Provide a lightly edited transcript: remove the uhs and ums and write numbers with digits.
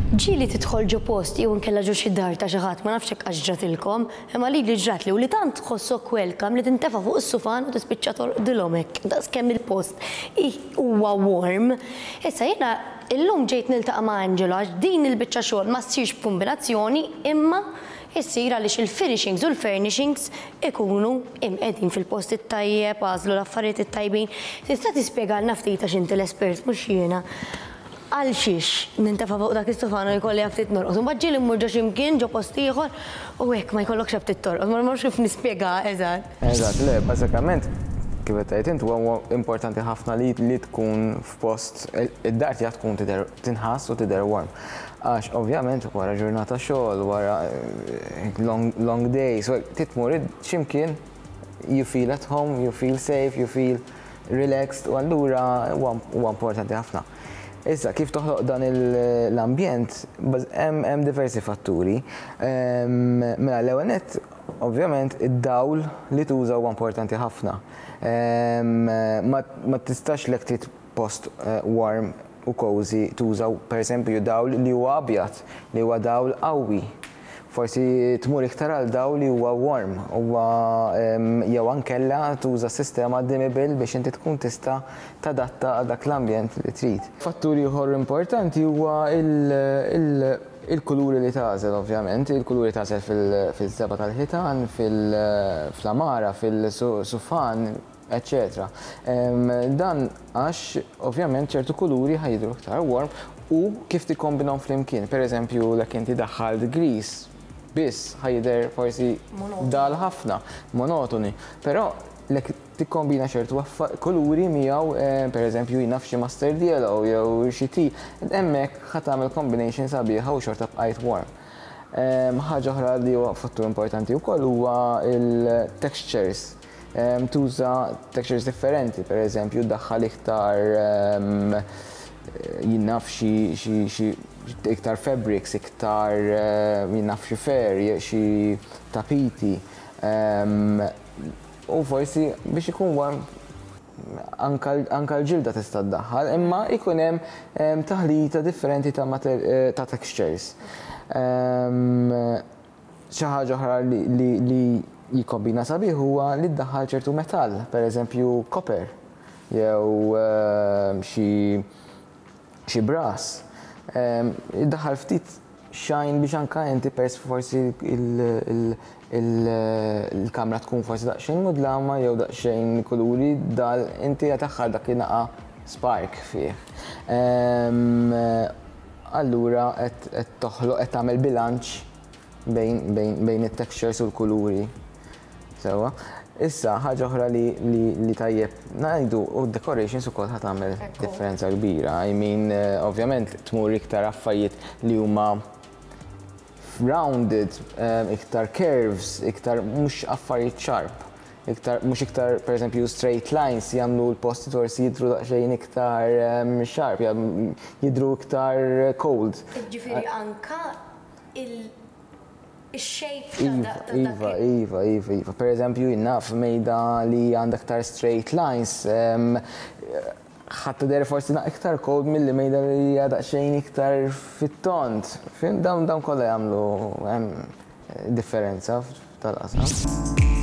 Ġieli tidħol ġo post jew inkella ġo xi dar ta' xi ħadd, ma nafx hekk għax ġratilkom, imma lili ġratli u li tant tħossok welcome li tintefa' fuq is-sufan u tispiċċa torqdilhom hekk daqskemm il-post huwa warm. Issa jiena illum ġejt niltaqa' ma' Angelo għax din il-biċċa xogħol ma ssirx b'kumbinazzjoni imma issir għaliex il-finishings u l-furnishings ikunu imqegħdin fil-post it-tajjeb, għażlu l-affarijiet it-tajbin. Tista' tispjegalna ftit għax inti l-espert mhux jiena. Għal xiex nintefa' fuq dak is-sufan u jkolli aptit norqod. Imbagħad ġieli mmur ġo xi mkien, ġo post ieħor u hekk ma jkollokx aptit torqod. Ma nafx kif nispjegaha eżatt. Eżatt, le, bażikament kif qed tgħid int huwa importanti ħafna li li tkun f'post id-dar tiegħek tkun tidher tinħass u tidher warm. Għax ovvjament wara ġurnata xogħol, wara long, long day, so trid tmur xi mkien you feel at home, you feel safe, you feel relaxed u allura huwa importanti ħafna. Issa, kif toħloq dan l-ambjent, hemm diversi fatturi. Mela, l-ewwel nett, ovvjament, id-dawl li tuża huwa importanti ħafna. Ma tistax lek trid post warm u cozy tuża pereżempju dawl li huwa abjad, li huwa dawl qawwi. Forsi tmur iktar għal dawl li huwa warm, huwa jew ankella tuża sistema dimmable biex inti tkun tista' tadatta għal dak l-ambjent li trid. Fattur ieħor importanti huwa il-kuluri li tagħżel ovvjament, il-kuluri tagħżel fil-żebgħa tal-ħitan, fl-għamara, fil-sufan, eċċetera. Dan għax ovvjament ċertu kuluri ħa jidhru iktar warm u kif tikkombinhom flimkien. Per eżempju, lek inti daħħalt gris biss ħa jidher forsi dal ħafna, monotoni. Però lek tikkombina ċertu kuluri miegħu, per eżempju, jien naf xi mustard yellow jew xi tea, hemmhekk ħa tagħmel combination sabiħa u xorta bqajt warm. Ħaġa oħra li huwa fattur importanti wkoll huwa il-textures. Tuża textures differenti, per eżempju, daħħal iktar jien naf xi iktar fabrics, iktar jien naf xi fur, xi tapiti. U forsi biex ikun warm anka l-ġilda tista' ddaħħal, imma ikun hemm taħlita differenti ta' textures. Xi ħaġa oħra li jikkombina sabiħ huwa li ddaħħal ċertu metall, per eżempju copper jew xi brass. Iddaħħal ftit shine biex anka inti pers forsi il-kamra tkun forsi daqsxejn mudlama jew daqsxejn kuluri dal inti qed dak naqa spark fih. Allura qed toħloq qed tagħmel bilanċ bejn it-textures u l-kuluri. Sewa. Issa, ħaġa oħra li tajjeb ngħidu u decorations ukoll ħa tagħmel differenza kbira. I mean, ovvjament tmur iktar affarijiet li huma rounded, iktar curves, iktar mhux affarijiet sharp. Iktar, mhux iktar, per eżempju, straight lines jagħmlu l-posti forsi jidru daqsxejn iktar sharp, jidru iktar cold. Ġifieri anka il-shape ta' dak. Iva. Per eżempju, naf mejda li għandha iktar straight lines, ħa tidher forsi iktar cold milli mejda li hija daqsxejn iktar fit-tond. Fhimt, dawn kollha jagħmlu differenza tal-qasam.